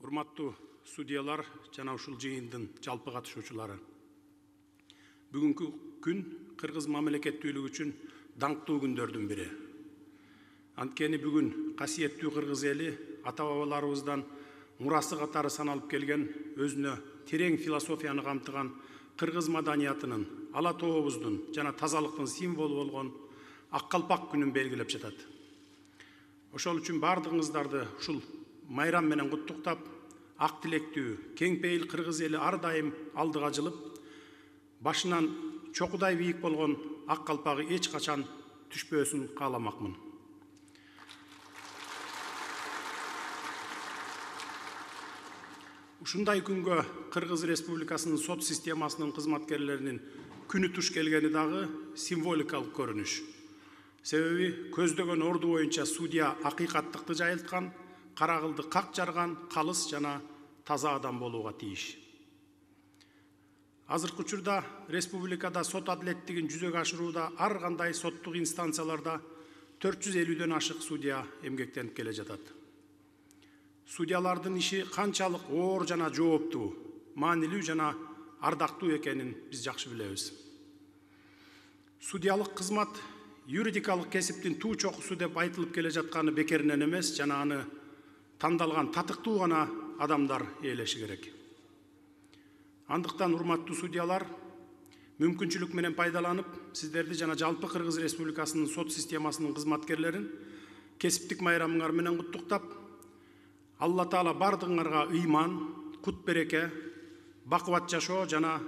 Урматтуу судьялар жана ушул жыйындын жалпы катышуучулары. Бүгүнкү күн кыргыз мамлекеттүүлүгү үчүн даңктуу күндөрдүн бири. Анткени бүгүн касиеттүү кыргыз эли ата-бабаларыбыздан мурасы катары саналып келген өзүнө терең философияны камтыган кыргыз маданиятынын, ала тообуздун жана тазалыктын символу болгон ак калпак күнүн белгилеп жатат. Ошол үчүн бардыгыңыздарды ушул майрам менен куттуктап, ак тилектүү, кең пейил кыргыз эли ар дайым алдыга жылып, башынан чокудай бийик болгон ак калпагы эч качан түшпөсүн кааламакмын. Ушундай күнгө Кыргыз Республикасынын сот системасынын кызматкерлеринин күнү туш келгени дагы символикалык көрүнүш. Себеби көздөгөн орду боюнча судья акыйкаттыкты жайылткан, карагылды как жарган, калыс жана таза адам болууга тийиш. Азыркы учурда республикада сот адилеттигин жүзөгө ашырууда ар кандай соттук инстанцияларда 450дөн ашык судья эмгектенип келе жатат. Судьялардын иши канчалык оор жана жооптуу, маанилүү жана ардактуу экенин биз жакшы билебиз. Судьялык кызмат юридикалык кесиптин туу чокусу деп айтылып келе жатканы бекеринен эмес, жана аны тандалган татыктуу гана адамдар ээлеши керек. Андыктан урматтуу судьялар, мүмкүнчүлүк менен пайдаланып, сиздерди жана жалпы Кыргыз Республикасынын сот системасынын кызматкерлерин кесиптик майрамыңар менен куттуктап, Алла Таала бардыгыңарга ыйман, кут береке, бакубат жашоо жана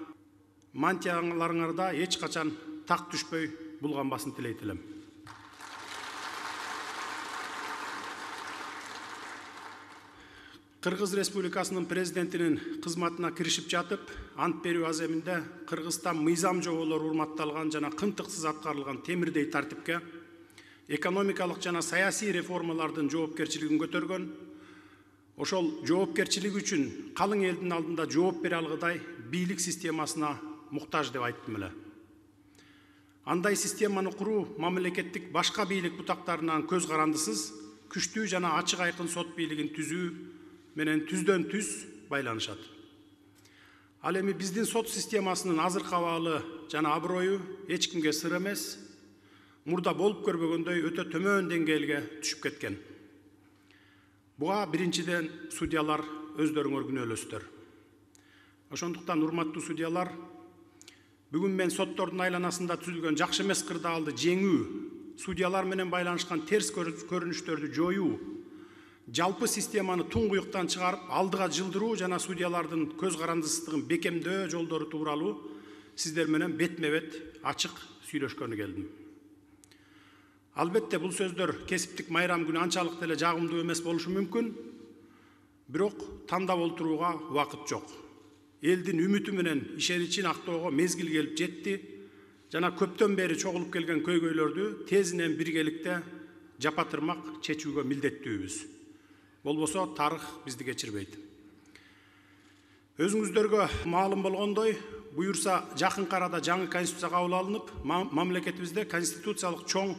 мантияларыңарда эч качан так түшпөй булганбасын тилейт элем. Кыргыз Республикасынын президентинин кызматына киришип жатып, ант берүү аземинде Кыргызстан мыйзам жоболору урматталган жана кынтыксыз аткарылган темирдей тартипке, экономикалык жана саясий реформалардын жоопкерчилигин көтөргөн, ошол жоопкерчилик үчүн калың элдин алдында жооп бере алгыдай бийлик системасына муктаж деп айттым эле. Андай системаны куруу мамлекеттик башка бийлик бутактарынан көз карандысыз, күчтүү жана ачык айкын сот бийлигин түзүү менен түздөн түз байланышат. Ал эми биздин сот системасынын азыркы абалы жана аброю эч кимге сыр эмес, мурда болуп көрбөгөндөй өтө төмөн деңгээлге түшүп кеткен. Буга биринчиден судьялар өздөрүңөр күнөөлөсүздөр. Ошондуктан урматтуу судьялар, бүгүн мен соттордун айланасында түзүлгөн жакшы эмес кырдаалды жеңүү, судьялар менен байланышкан терс көрүнүштөрдү жоюу, жалпы системаны туңгуюктан чыгарып, алдыга жылдыруу жана судьялардын көз карандысыздыгын бекемдөө жолдору тууралуу сиздер менен бетме-бет ачык сүйлөшкөнү келдим. Албетте бул сөздөр кесиптик майрам күнү анчалык деле жагымдуу эмес болушу мүмкүн, бирок тандап олтурууга убакыт жок. Элдин үмүтү менен ишеничин актоого мезгил келип жетти жана көптөн бери чогулуп келген көйгөйлөрдү тезинен биргеликте жапатырмак чечүүгө милдеттүүбүз. Болбосо тарых бизди кечирбейт. Өзүңүздөргө маалым болгондой, буюрса жакынкы арада жаңы конституция кабыл алынып, мамлекетибизде конституциялык чоң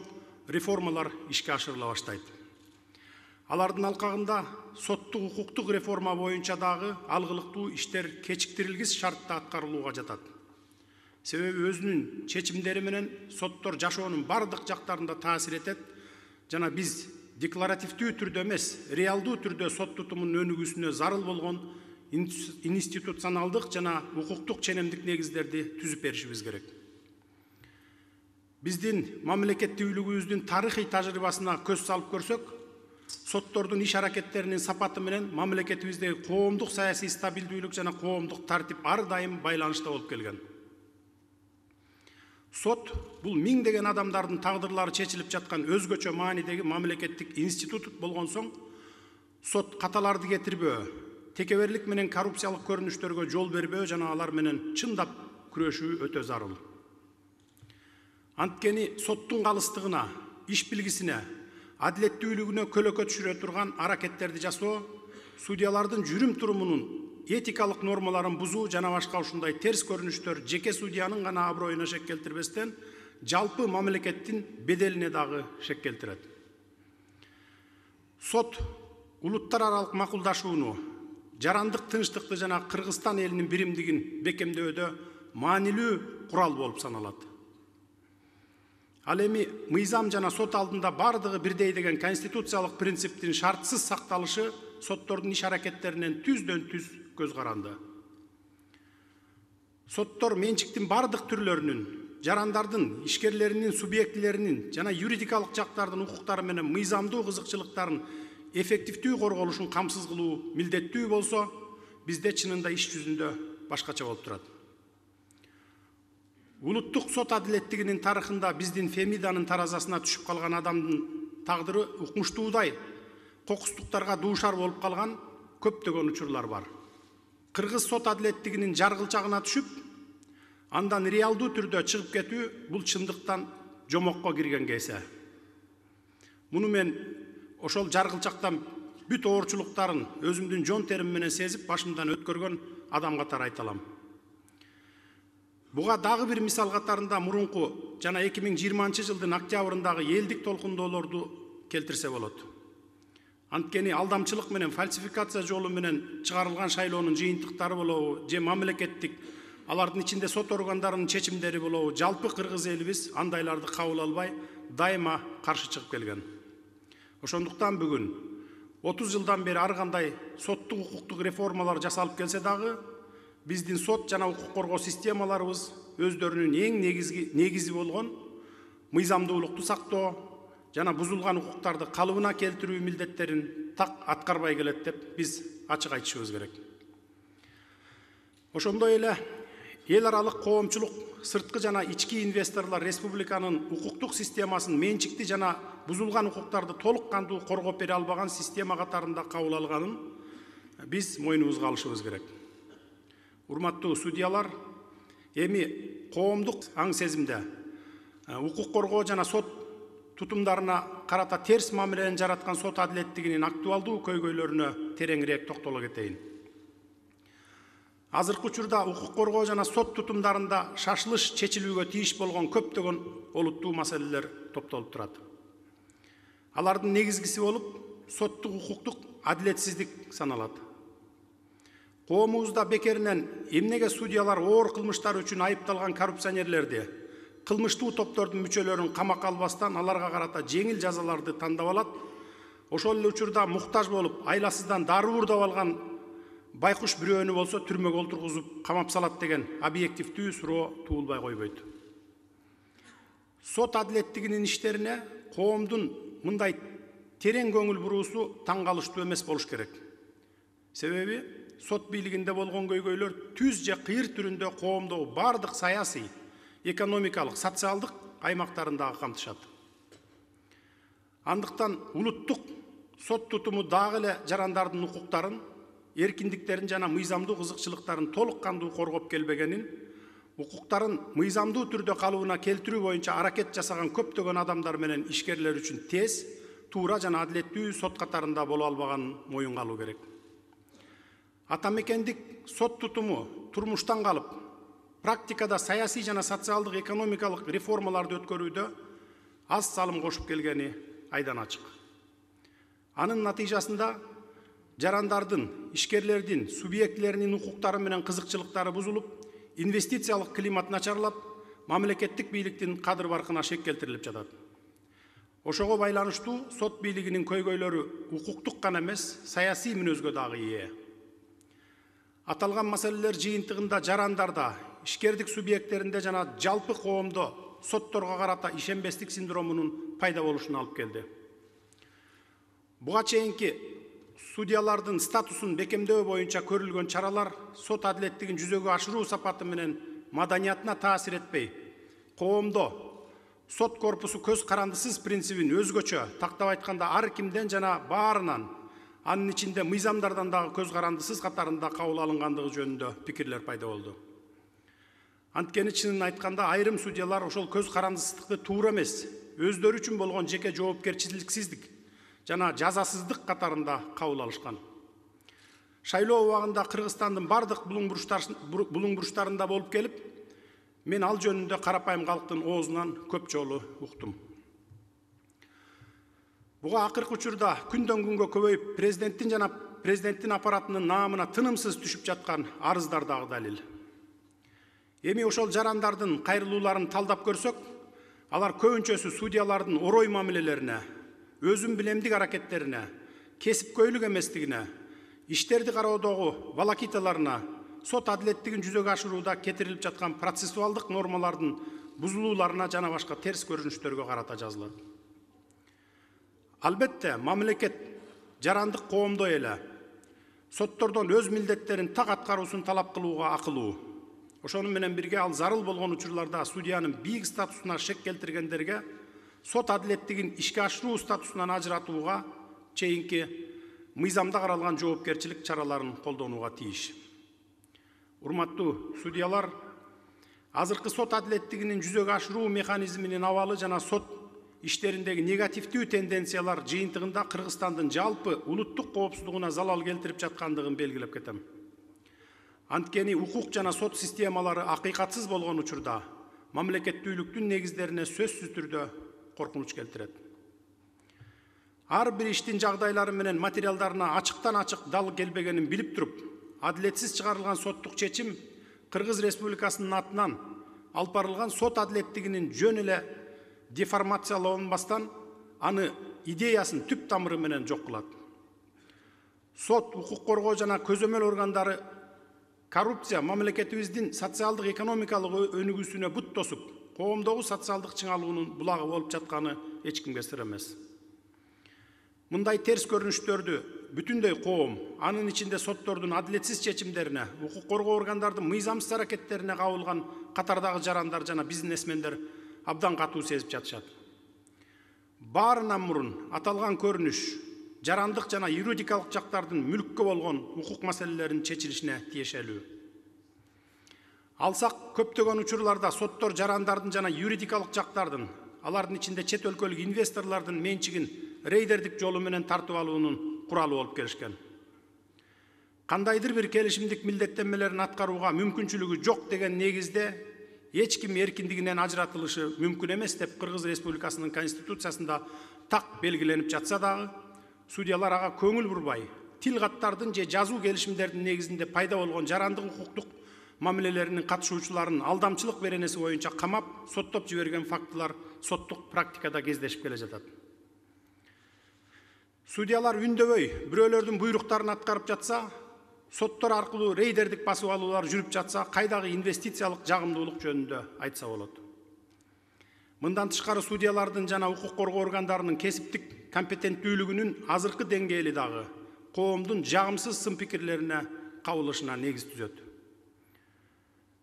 реформалар ишке ашырыла баштайт. Алардын алкагында соттук укуктук реформа боюнча дагы алгылыктуу иштер кечиктирилгис шартта аткарылууга жатат. Себеби өзүнүн чечимдери менен соттор жашоонун бардык жактарында таасир этет жана биз декларативдүү түрдө эмес, реалдуу түрдө сот тутумунун өнүгүүсүнө зарыл болгон институционалдык жана укуктук ченемдик негиздерди түзүп беришибиз керек. Биздин мамлекеттүүлүгүбүздүн тарыхый тажрыйбасына көз салып көрсөк, соттордун иш аракеттеринин сапаты менен мамлекетибиздеги коомдук саясий стабилдүүлүк жана коомдук тартип ар дайым байланышта болуп келген. Сот бул миңдеген адамдардын тагдырлары чечилип жаткан өзгөчө маанидеги мамлекеттик институт болгон соң, сот каталарды кетирбөө, текеберлик менен коррупциялык көрүнүштөргө жол бербөө жана алар менен чындап күрөшүү өтө зарыл. Анткени соттун калыстыгына, иш билгисине, адилеттүүлүгүнө көлөкө түшүрө турган аракеттерди жасоо, судьялардын жүрүм турумунун этикалык нормаларын бузуу жана башка ушундай терс көрүнүштөр жеке судьянын гана аброюна шек келтирбестен, жалпы мамлекеттин беделине дагы шек келтирет. Сот улуттар аралык макулдашууну, жарандык тынчтыкты жана Кыргызстан элинин биримдигин бекемдөөдө маанилүү курал болуп саналат. Ал эми мыйзам жана сот алдында бардыгы бирдей деген конституциялык принциптин шартсыз сакталышы соттордун иш аракеттеринен түздөн түз көз каранды. Соттор менчиктин бардык түрлөрүнүн, жарандардын, ишкерлеринин, субъектилеринин жана юридикалык жактардын укуктары менен мыйзамдуу кызыкчылыктарын эффективдүү корголушун камсыз кылуу милдеттүү болсо, бизде чынында иш жүзүндө башкача болуп турат. Улуттук сот адилеттигинин тарыхында биздин Фемиданын таразасына түшүп калган адамдын тагдыры укмуштуудай кокустуктарга дуушар болуп калган көптөгөн учурлар бар. Кыргыз сот адилеттигинин жаргылчагына түшүп, андан реалдуу түрдө чыгып кетүү бул чындыктан жомокко кирген кесе. Муну мен ошол жаргылчактан бүт оорчулуктарын өзүмдүн жон терим менен сезип башымдан өткөргөн адам катары айта алам. Буга дагы бир мисал катарында мурунку жана 2020-жылдын октябрындагы элдик толкундоолорду келтирсе болот. Анткени алдамчылык менен фальсификация жолу менен чыгарылган шайлоонун жыйынтыктары болобу, же мамлекеттик алардын ичинде сот органдарынын чечимдери болобу, жалпы кыргыз элибиз андайларды кабыл албай, дайыма каршы чыгып келген. Ошондуктан бүгүн 30 жылдан бери ар кандай соттук укуктук реформалар жасалып келсе дагы, биздин сот жана укук коргоо системаларыбыз өздөрүнүн эң негизи болгон мыйзамдуулукту сактоо жана бузулган укуктарды калыбына келтирүү милдеттерин так аткарбай келет деп биз ачык айтышыбыз керек. Ошондой эле эл аралык коомчулук, сырткы жана ички инвесторлор республиканын укуктук системасын менчикти жана бузулган укуктарды толук кандуу коргоп бере албаган система катарында кабыл алганын биз мойнубузга алышыбыз керек. Урматтуу судьялар, эми коомдук аң сезимде укук коргоо жана сот тутумдарына карата терс мамилени жараткан сот адилеттигинин актуалдуу көйгөйлөрүнө тереңирээк токтоло кетейин. Азыркы учурда укук коргоо жана сот тутумдарында шашылыш чечилүүгө тийиш болгон көптөгөн олуттуу маселелер топтолуп турат. Алардын негизгиси болуп, соттук укуктук адилетсиздик саналат. Коомубузда бекеринен эмнеге судьялар оор кылмыштар үчүн айыпталган коррупционерлерди, кылмыштуу топтордун мүчөлөрүн камакка албастан аларга карата жеңил жазаларды тандап алат, ошол эле учурда муктаж болуп, айласыздан дары уурдап алган байкуш бирөөнү болсо түрмөгө олтургузуп камап салат деген объективдүү суроо туулбай койбойт. Сот адилеттигинин иштерине коомдун мындай терең көңүл буруусу таң калыштуу эмес болуш керек. Себеби сот бийлигинде болгон көйгөйлөр түз же кыйыр түрүндө коомдогу бардык саясий, экономикалык, социалдык аймактарындагы камтышат. Андыктан улуттук сот тутуму дагы эле жарандардын укуктарын, эркиндиктерин жана мыйзамдуу кызыкчылыктарын толук кандуу коргоп келбегенин, укуктарын мыйзамдуу түрдө калыбына келтирүү боюнча аракет жасаган көптөгөн адамдар менен ишкерлер үчүн тез, туура жана адилеттүү сот катарында боло албаганын моюнга алуу керек. Атамекендик сот тутуму турмуштан калып, практикада саясий жана социалдык экономикалык реформаларды өткөрүүдө аз салым кошуп келгени айдан ачык. Анын натыйжасында жарандардын, ишкерлердин, субъектилеринин укуктары менен кызыкчылыктары бузулуп, инвестициялык климат начарлап, мамлекеттик бийликтин кадыр баркына шек келтирилип жатат. Ошого байланыштуу сот бийлигинин көйгөйлөрү укуктук гана эмес, саясий мүнөзгө дагы ээ. Аталган маселелер жыйынтыгында жарандарда, ишкердик субъекттеринде жана жалпы коомдо сотторго карата ишенбестик синдромунун пайда болушуна алып келди. Буга чейинки судьялардын статусун бекемдөө боюнча көрүлгөн чаралар сот адилеттигин жүзөгө ашыруу сапаты менен маданиятына таасир этпей, коомдо сот корпусу көз карандысыз принцибин өзгөчө, тактап айтканда ар кимден жана баарынан, анын ичинде мыйзамдардан дагы көз карандысыз катарында кабыл алынгандыгы жөнүндө пикирлер пайда болду. Анткени чынын айтканда айрым судьялар ошол көз карандысыздыкты туура эмес, өздөрү үчүн болгон жеке жоопкерчиликсиздик жана жазасыздык катарында кабыл алышкан. Шайлоо убагында Кыргызстандын бардык булуң буруштарында болуп келип, мен ал жөнүндө карапайым калктын оозунан көп жолу уктум. Буга акыркы учурда күндөн күнгө көбөйүп, президенттин жана президенттин аппаратынын наамына тынымсыз түшүп жаткан арыздар дагы далил. Эми ошол жарандардын кайрылууларын талдап көрсөк, алар көбүнчөсү судьялардын орой мамилелерине, өзүн билемдик аракеттерине, кесипкөйлүк эместигине, иштерди кароодогу волокиталарына, сот адилеттигин жүзөгө ашырууда кетирилип жаткан процессуалдык нормалардын бузулууларына жана башка терс көрүнүштөргө карата жазылат. Албетте, мамлекет жарандык коомдой эле соттордон өз милдеттерин так аткаруусун талап кылууга акылуу. Ошону менен бирге ал зарыл болгон учурларда судьянын бийик статусуна шек келтиргендерге сот адилеттигин ишке ашыруу статусунан ажыратууга чейинки мыйзамда каралган жоопкерчилик чараларын колдонууга тийиш. Урматтуу судьялар, азыркы сот адилеттигинин жүзөгө ашыруу механизминин абалы жана сот иштериндеги негативдүү тенденциялар жыйынтыгында Кыргызстандын жалпы улуттук коопсуздугуна залал келтирип жаткандыгын белгилеп кетем. Анткени укук жана сот системалары акыйкатсыз болгон учурда мамлекеттүүлүктүн негиздерине сөзсүз түрдө коркунуч келтирет. Ар бир иштин жагдайлары менен материалдарына ачыктан ачык дал келбегенин билип туруп, адилетсиз чыгарылган соттук чечим Кыргыз Республикасынын атынан алып барылган сот адилеттигинин жөн эле деформацияланбастан аны идеясын түп тамыры менен жок кылат. Сот, укук коргоо жана көзөмөл органдары коррупция мамлекетибиздин социалдык экономикалык өнүгүүсүнө бут тосуп, коомдогу социалдык чыңалуунун булагы болуп жатканы эч кимге сыр эмес. Мындай терс көрүнүштөрдү бүтүндөй коом, анын ичинде соттордун адилетсиз чечимдерине, укук коргоо органдардын мыйзамсыз аракеттерине кабылган катардагы жарандар жана бизнесмендер абдан катуу сезип жатышат. Баарынан мурун аталган көрүнүш жарандык жана юридикалык жактардын мүлккө болгон укук маселелеринин чечилишине тиешелүү. Алсак, көптөгөн учурларда соттор жарандардын жана юридикалык жактардын, алардын ичинде чет өлкөлүк инвесторлордун менчигин рейдердик жолу менен тартып алуунун куралы болуп келишкен. Кандайдыр бир келишимдик милдеттенмелерин аткарууга мүмкүнчүлүгү жок деген негизде эч ким эркиндигинен ажыратылышы мүмкүн эмес деп Кыргыз Республикасынын Конституциясында так белгиленип жатса дагы, судьялар ага көңүл бурбай, тил каттардын же жазуу келишимдердин негизинде пайда болгон жарандык укуктук мамилелеринин катышуучуларын алдамчылык беренеси боюнча камап, соттоп жиберген фактылар соттук практикада кездешип келе жатат. Судьялар үндөбөй бирөөлөрдүн буйруктарын аткарып жатса, соттор аркылуу рейдердик басып алуулар жүрүп жатса, кайдагы инвестициялык жагымдуулук жөнүндө айтса болот. Мындан тышкары судьялардын жана укук коргоо органдарынын кесиптик компетенттүүлүгүнүн азыркы деңгээли дагы коомдун жагымсыз сын пикирлерине кабылышына негиз түзөт.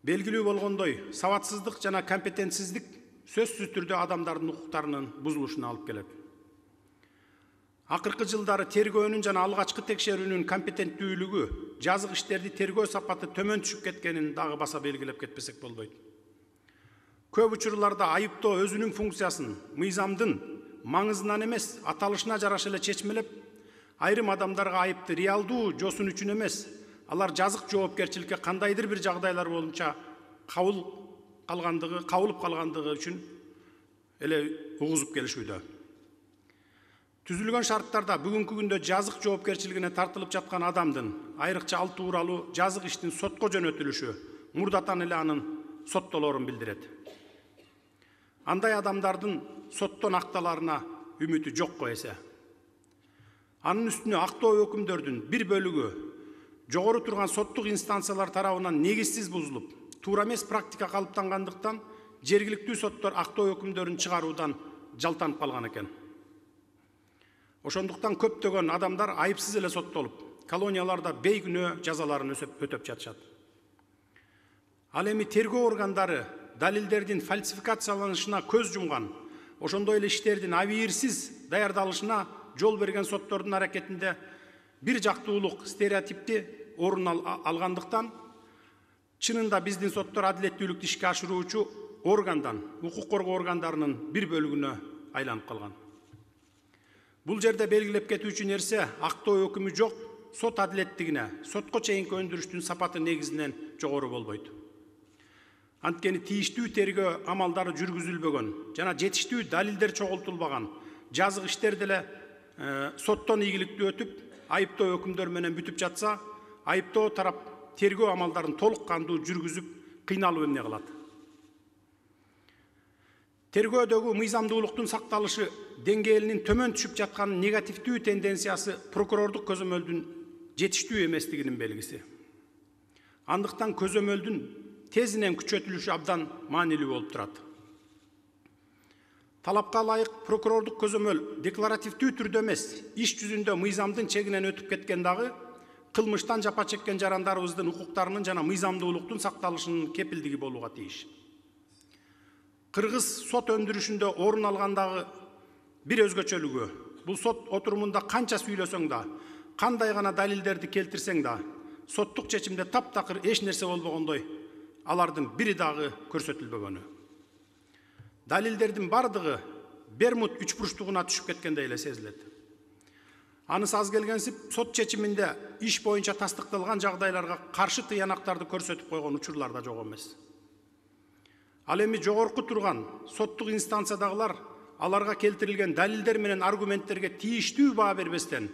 Белгилүү болгондой, сабатсыздык жана компетентсиздик сөзсүз түрдө адамдардын укуктарынын бузулушуна алып келет. Акыркы жылдары тергөөнүн жана алгачкы текшерүүнүн компетенттүүлүгү, жазык иштерди тергөө сапаты төмөн түшүп кеткенин дагы баса белгилеп кетпесек болбойт. Көп учурларда айыптоо өзүнүн функциясын мыйзамдын маңызынан эмес, аталышына жараша эле чечмелеп, айрым адамдарга айыпты реалдуу жосун үчүн эмес, алар жазык жоопкерчиликке кандайдыр бир жагдайлар боюнча кабылып калгандыгы үчүн эле угузуп келишүүдө. Түзүлгөн шарттарда бүгүнкү күндө жазык жоопкерчилигине тартылып жаткан адамдын айрыкча ал тууралуу жазык иштин сотко жөнөтүлүшү мурдатан эле анын соттолорун билдирет. Андай адамдардын соттон акталарына үмүтү жокко эсе. Анын үстүнө актоо өкүмдөрдүн бир бөлүгү жогору турган соттук инстанциялар тарабынан негизсиз бузулуп, туура эмес практика калыптангандыктан жергиликтүү соттор актоо өкүмдөрүн чыгаруудан жалтанып калган экен. Ошондуктан көптөгөн адамдар айыпсыз эле соттолуп, колонияларда бейкүнөө жазаларын өтөп жатышат. Ал эми тергөө органдары далилдердин фальсификацияланышына көз жумган, ошондой эле иштердин абийирсиз даярдалышына жол берген соттордун аракетинде бир жактуулук стереотипти орун алгандыктан, чынында биздин соттор адилеттүүлүктү ишке ашыруучу органдан, укук коргоо органдарынын бир бөлүгүнө айланып калган. Бул жерде белгилеп кетүүчү нерсе, актоо өкүмү жок, сот адилеттигине, сотко чейинки өндүрүштүн сапаты негизинен жогору болбойт. Анткени тийиштүү тергөө амалдары жүргүзүлбөгөн жана жетиштүү далилдер чогултулбаган, жазык иштер деле соттон ийгиликтүү өтүп, айыптоо өкүмдөр менен бүтүп жатса, айыптоо тарап тергөө амалдарын толук кандуу жүргүзүп кыйналып эмне кылат? Тергөөдөгү мыйзамдуулуктун сакталышы деңгээлинин төмөн түшүп жатканын негативдүү тенденциясы прокурордук көзөмөлдүн жетиштүү эместигинин белгиси. Андыктан көзөмөлдүн тезинен күчөтүлүшү абдан маанилүү болуп турат. Талапка ылайык прокурордук көзөмөл декларативдүү түрдө эмес, иш жүзүндө мыйзамдын чегинен өтүп кеткен дагы кылмыштан жапа чеккен жарандарыбыздын укуктарынын жана мыйзамдуулуктун сакталышынын кепилдиги болууга тийиш. Кыргыз сот өндүрүшүндө орун алгандагы бир өзгөчөлүгү, бул сот отурумунда канча сүйлөсөң да, кандай гана далилдерди келтирсең да, соттук чечимде таптакыр эч нерсе болбогондой, алардын бири дагы көрсөтүлбөгөнү. Далилдердин бардыгы Бермуд үчбурчтугуна түшүп кеткендей эле сезилет. Анысы аз келгенсип, сот чечиминде иш боюнча тастыкталган жагдайларга каршы тыянактарды көрсөтүп койгон учурлар да жок эмес. Ал эми жогорку турган соттук инстанциядагылар аларга келтирилген далилдер менен аргументтерге тийиштүү баа бербестен,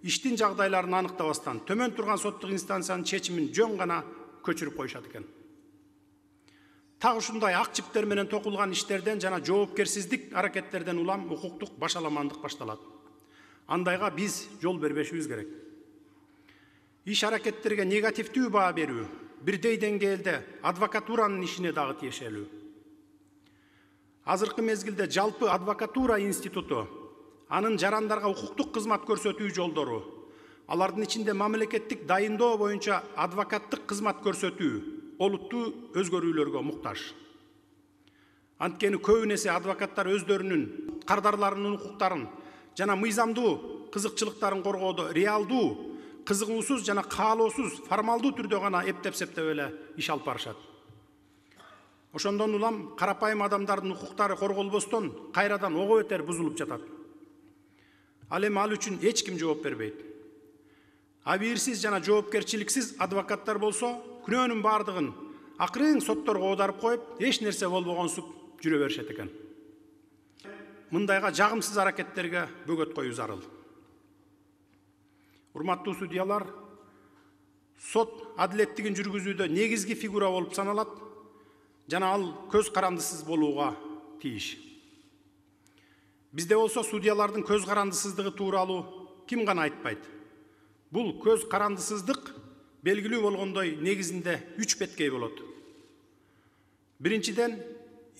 иштин жагдайларын аныктабастан, төмөн турган соттук инстанциянын чечимин жөн гана көчүрүп коюшат экен. Так ушундай ак чиптер менен токулган иштерден жана жоопкерсиздик аракеттерден улам укуктук башаламандык башталат. Андайга биз жол бербешибиз керек. Иш аракеттерге негативдүү баа берүү бирдей деңгээлде адвокатуранын ишине дагы тиешелүү. Азыркы мезгилде жалпы адвокатура институту, анын жарандарга укуктук кызмат көрсөтүү жолдору, алардын ичинде мамлекеттик дайындоо боюнча адвокаттык кызмат көрсөтүү олуттуу өзгөрүүлөргө муктаж. Анткени көбүн эсе адвокаттар өздөрүнүн кардарларынын укуктарын жана мыйзамдуу кызыкчылыктарын коргоодо реалдуу, кызыгуусуз жана каалоосуз формалдуу түрдө гана эптеп-септеп эле иш алып барышат. Ошондон улам карапайым адамдардын укуктары корголбостон кайрадан ого бетер бузулуп жатат. Ал эми ал үчүн эч ким жооп бербейт. Абийирсиз жана жоопкерчиликсиз адвокаттар болсо, күнөөнүн бардыгын акырын сотторго оодарып коюп, эч нерсе болбогонсуп жүрө беришет экен. Мындайга жагымсыз аракеттерге бөгөт коюу зарыл. Урматтуу судьялар, сот адилеттигин жүргүзүүдө негизги фигура болуп саналат жана ал көз карандысыз болууга тийиш. Бизде болсо судьялардын көз карандысыздыгы тууралуу ким гана айтпайт. Бул көз карандысыздык белгилүү болгондой негизинде 3 беткей болот. Биринчиден,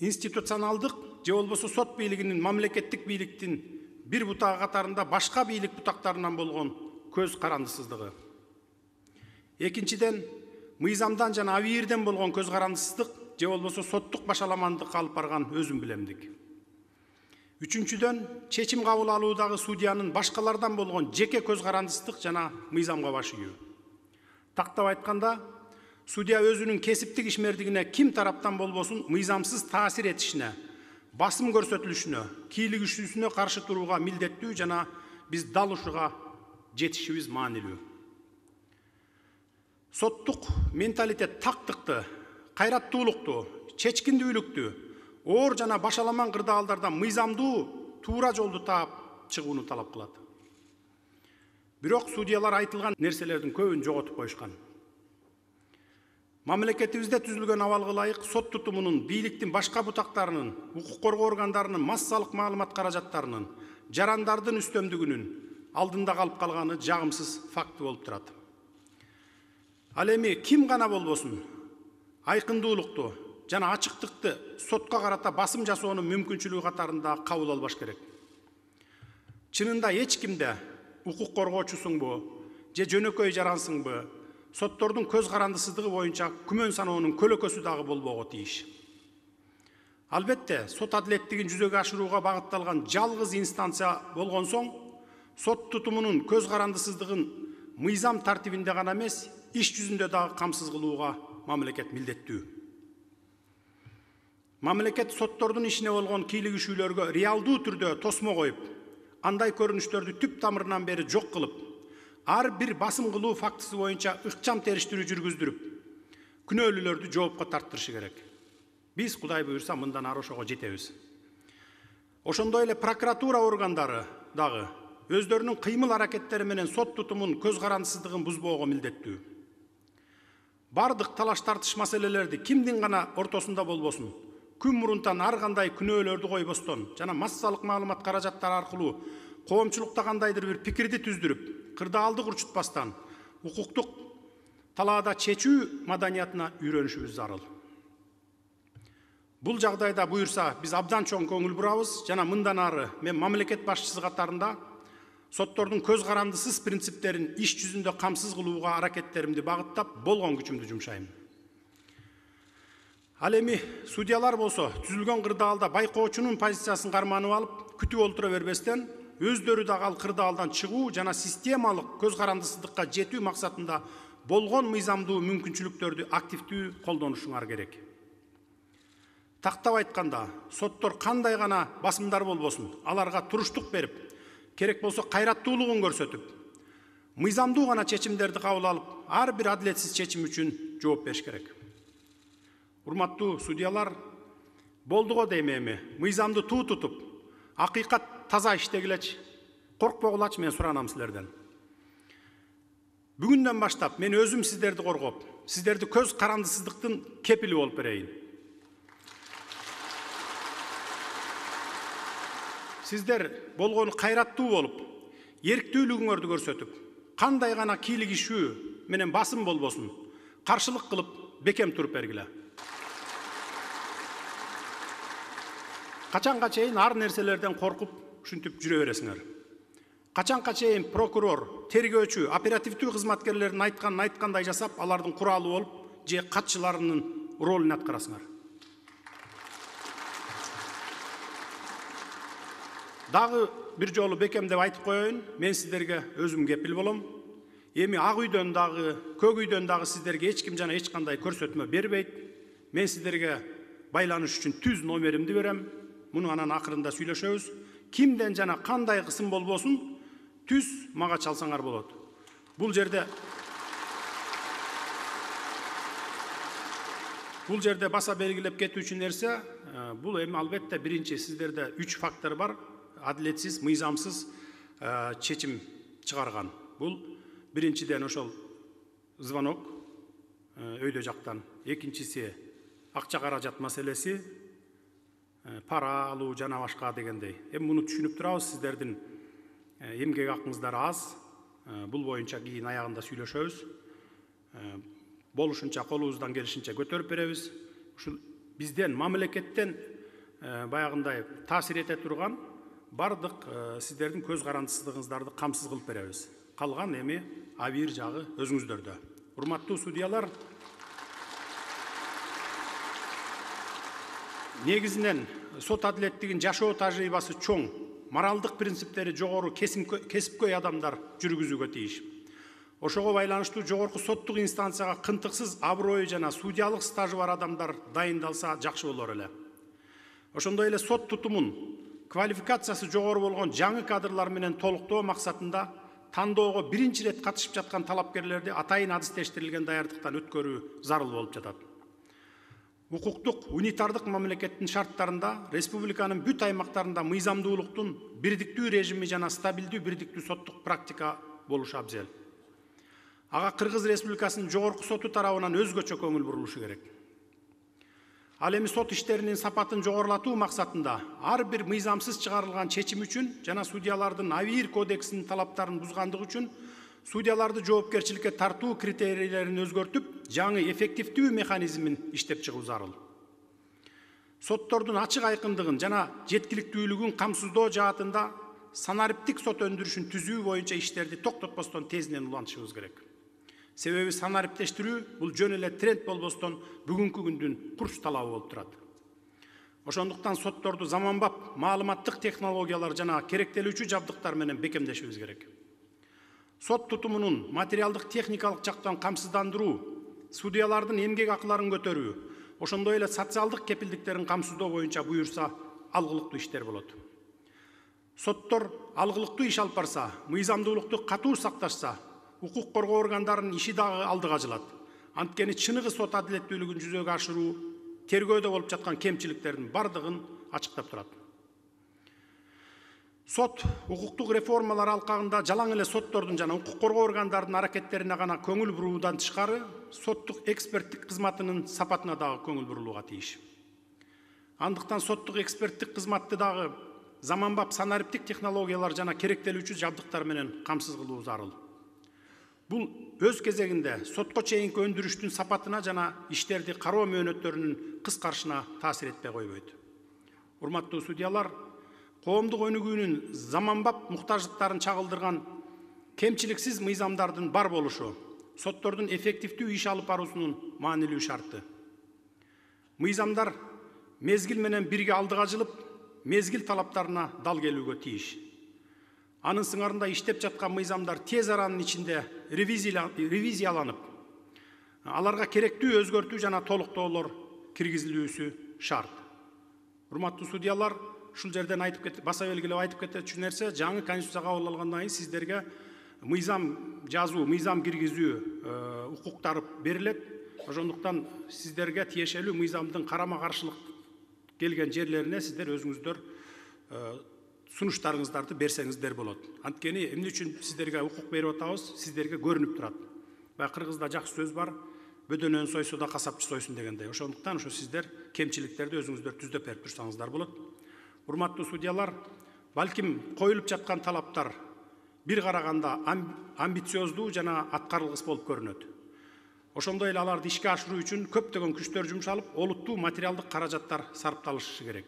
институционалдык же болбосо сот бийлигинин мамлекеттик бийликтин бир бутагы катарында башка бийлик бутактарынан болгон көз карандысыздыгы. Экинчиден, мыйзамдан жана абийирден болгон көз карандысыздык же болбосо соттук башаламандыкка алып барган өзүм билемдик. Үчүнчүдөн, чечим кабыл алуудагы судьянын башкалардан болгон жеке көз карандысыздык жана мыйзамга баш ийүү. Тактап айтканда, судья өзүнүн кесиптик ишмердигине ким тараптан болбосун мыйзамсыз таасир этишине, басым көрсөтүлүшүнө, кийлигишүүсүнө каршы турууга милдеттүү жана биз дал ушуга жетишибиз маанилүү. Соттук менталитет тактыкты, кайраттуулукту, чечкиндүүлүктү, оор жана башаламан кырдаалдардан мыйзамдуу, туура жолду таап чыгууну талап кылат. Бирок судьялар айтылган нерселердин көбүн жоготуп коюшкан. Мамлекетибизде түзүлгөн абалга ылайык сот тутумунун, бийликтин башка бутактарынын, укук коргоо органдарынын массалык маалымат каражаттарынын, жарандардын үстөмдүгүнүн алдында калып калганы жагымсыз факты болуп турат. Ал эми ким гана болбосун, айкындуулукту жана ачыктыкты сотко карата басым жасоонун мүмкүнчүлүгү катарында кабыл албаш керек. Чынында эч кимде укук коргоочусуңбу же жөнөкөй жарансыңбы, соттордун көз карандысыздыгы боюнча күмөн саноонун көлөкөсү дагы болбого тийиш. Албетте, сот адилеттигин жүзөгө ашырууга багытталган жалгыз инстанция болгон соң, сот тутумунун көз карандысыздыгын мыйзам тартибинде гана эмес, иш жүзүндө дагы камсыз кылууга мамлекет милдеттүү. Мамлекет соттордун ишине болгон кийлигишүүлөргө реалдуу түрдө тосмо коюп, андай көрүнүштөрдү түп тамырынан бери жок кылып, ар бир басым кылуу фактысы боюнча ыкчам териштирүү жүргүздүрүп, күнөөлүүлөрдү жоопко тарттырышы керек. Биз Кудай буйрса мындан ары ошого жетебиз. Ошондой эле прокуратура органдары дагы өздөрүнүн кыймыл аракеттери менен сот тутумун көз карандысыздыгын бузбоого милдеттүү. Бардык талаш тартыш маселелерди кимдин гана ортосунда болбосун, күн мурунтан ар кандай күнөөлөрдү койбостон жана массалык маалымат каражаттары аркылуу коомчулукта кандайдыр бир пикирди түздүрүп, кырдаалды урчутпастан укуктук талаада чечүү маданиятына үйрөнүшүбүз зарыл. Бул жагдайда буюрса биз абдан чоң көңүл бурабыз жана мындан ары мен мамлекет башчысы катарында соттордун көз карандысыз принциптерин иш жүзүндө камсыз кылууга аракеттеримди багыттап болгон күчүмдү жумшайм. Ал эми судьялар болсо түзүлгөн кырдаалда байкоочунун позициясын карманып алып, күтүп олтура бербестен өздөрү дагы ал кырдаалдан чыгуу жана системалык көз карандысыздыкка жетүү максатында болгон мыйзамдуу мүмкүнчүлүктөрдү активдүү колдонушуңар керек. Тактап айтканда, соттор кандай гана басымдар болбосун, аларга туруштук берип, керек болсо кайраттуулугун көрсөтүп, мыйзамдуу гана чечимдерди кабыл алып, ар бир адилетсиз чечим үчүн жооп бериш керек. Урматтуу судьялар, болду го дейм эми, мыйзамды туу тутуп, акыйкат таза иштегилечи, коркпогулачы, мен суранам силерден. Бүгүндөн баштап мен өзүм сиздерди коргоп, сиздерди көз карандысыздыктын кепили болуп берейин. Сиздер болгону кайраттуу болуп, эрктүүлүгүңөрдү көрсөтүп, кандай гана кийлигишүү менен басым болбосун, каршылык кылып бекем туруп бергиле. Качанга чейин ар нерселерден коркуп, ушинтип жүрө бересиңер. Качанга чейин прокурор, тергөөчү, оперативдүү кызматкерлердин айтканын айткандай жасап, алардын куралы болуп, же катчыларынын ролун аткарасыңар. Дагы бир жолу бекемдеп айтып коеюн, мен сиздерге өзүм кепил болом. Эми ак үйдөн дагы, көк үйдөн дагы сиздерге эч ким жана эч кандай көрсөтмө бербейт. Мен сиздерге байланыш үчүн түз номеримди берем. Муну анан акырында сүйлөшөбүз. Кимден жана кандай кысым болбосун, түз мага чалсаңар болот. Бул жерде баса белгилеп кетүүчү нерсе, бул эми албетте биринчи сиздерде 3 фактор бар. Адилетсиз, мыйзамсыз чечим чыгарган. Бул биринчиден ошол звонок өйдө жактан, экинчиси акча каражат маселеси, пара алуу жана башка дегендей. Эми муну түшүнүп турабыз, сиздердин эмгек акыңыздар аз. Бул боюнча кийин аягында сүйлөшөбүз. Болушунча колубуздан келишинче көтөрүп беребиз. Ушул бизден, мамлекеттен баягындай таасир эте турган бардык сиздердин көз карандысыздыгыңыздарды камсыз кылып беребиз. Калган эми абийир жагы өзүңүздөрдө. Урматтуу судьялар, негизинен сот адилеттигин жашоо тажрыйбасы чоң, моралдык принциптери жогору кесипкөй адамдар жүргүзүүгө тийиш. Ошого байланыштуу жогорку соттук инстанцияга кынтыксыз аброю жана судьялык стажы бар адамдар дайындалса жакшы болор эле. Ошондой эле сот тутумун квалификациясы жогору болгон жаңы кадрлар менен толуктоо максатында тандоого биринчи рет катышып жаткан талапкерлерди атайын адистештирилген даярдыктан өткөрүү зарыл болуп жатат. Укуктук унитардык мамлекеттин шарттарында республиканын бүт аймактарында мыйзамдуулуктун бирдиктүү режими жана стабилдүү бирдиктүү соттук практика болушу абзел. Ага Кыргыз Республикасынын жогорку соту тарабынан өзгөчө көңүл бурулушу керек. Ал эми сот иштеринин сапатын жогорулатуу максатында ар бир мыйзамсыз чыгарылган чечим үчүн жана судьялардын абийир кодексинин талаптарын бузгандыгы үчүн судьяларды жоопкерчиликке тартуу критерийлерин өзгөртүп, жаңы эффективдүү механизмин иштеп чыгуу зарыл. Соттордун ачык айкындыгын жана жеткиликтүүлүгүн камсыздоо жаатында санариптик сот өндүрүшүн түзүү боюнча иштерди токтотпостон тезинен улантышыбыз керек. Себеби санариптештирүү бул жөн эле тренд болбостон бүгүнкү күндүн курч талабы болуп турат. Ошондуктан сотторду заманбап маалыматтык технологиялар жана керектелүүчү жабдыктар менен бекемдешибиз керек. Сот тутумунун материалдык техникалык жактан камсыздандыруу, судьялардын эмгек акыларын көтөрүү, ошондой эле социалдык кепилдиктерин камсыздоо боюнча буюрса алгылыктуу иштер болот. Соттор алгылыктуу иш алып барса, мыйзамдуулукту катуу сакташса, укук коргоо органдарынын иши дагы алдыга жылат. Анткени чыныгы сот адилеттүүлүгүн жүзөгө ашыруу тергөөдө болуп жаткан кемчиликтердин бардыгын ачыктап турат. Сот укуктук реформалар алкагында жалаң эле соттордун жана укук коргоо органдарынын аракеттерине гана көңүл буруудан тышкары, соттук эксперттик кызматынын сапатына дагы көңүл бурулууга тийиш. Андыктан соттук эксперттик кызматты дагы заманбап санариптик технологиялар жана керектелүүчү жабдыктар менен камсыз кылуу зарыл. Бул өз кезегинде сотко чейинки өндүрүштүн сапатына жана иштерди кароо мөөнөттөрүнүн кыскарышына таасир этпей койбойт. Урматтуу судьялар, коомдук өнүгүүнүн заманбап муктаждыктарын чагылдырган кемчиликсиз мыйзамдардын бар болушу соттордун эффективдүү иш алып баруусунун маанилүү шарты. Мыйзамдар мезгил менен бирге алдыга жылып, мезгил талаптарына дал келүүгө тийиш. Анын сыңарында иштеп жаткан мыйзамдар тез аранын ичинде ревизияланып, аларга керектүү өзгөртүү жана толуктоолор киргизилүүсү шарт. Урматтуу судьялар, ушул жерден баса белгилеп айтып кетчү нерсе, жаңы конституция кабыл алгандан кийин сиздерге мыйзам жазуу, мыйзам киргизүү укуктары берилет. Ошондуктан сиздерге тиешелүү мыйзамдын карама-каршылык келген жерлерине сиздер өзүңүздөр сунуштарыңыздарды берсеңиздер болот. Анткени эмне үчүн сиздерге укук берип атабыз, сиздерге көрүнүп турат. Баягы кыргызда жакшы сөз бар, бөдөнөн сойсо да касапчы сойсун дегендей. Ошондуктан ошо сиздер кемчиликтерди өзүңүздөр түздөп берип турсаңыздар болот. Урматтуу судьялар, балким коюлуп жаткан талаптар бир караганда амбициоздуу жана аткарылгыс болуп көрүнөт. Ошондой эле аларды ишке ашыруу үчүн көптөгөн күчтөр жумшалып, олуттуу материалдык каражаттар сарпталышы керек.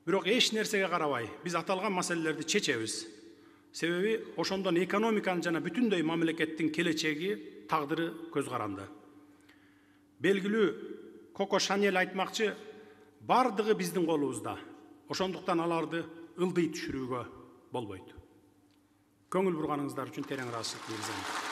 Бирок эч нерсеге карабай, биз аталган маселелерди чечебиз. Себеби ошондон экономиканын жана бүтүндөй мамлекеттин келечеги, тагдыры көз каранды. Белгилүү Коко Шанель айтмакчы, бардыгы биздин колубузда. Ошондуктан аларды ылдый түшүрүүгө болбойт. Көңүл бурганыңыздар үчүн терең ыраазычылык билдирем.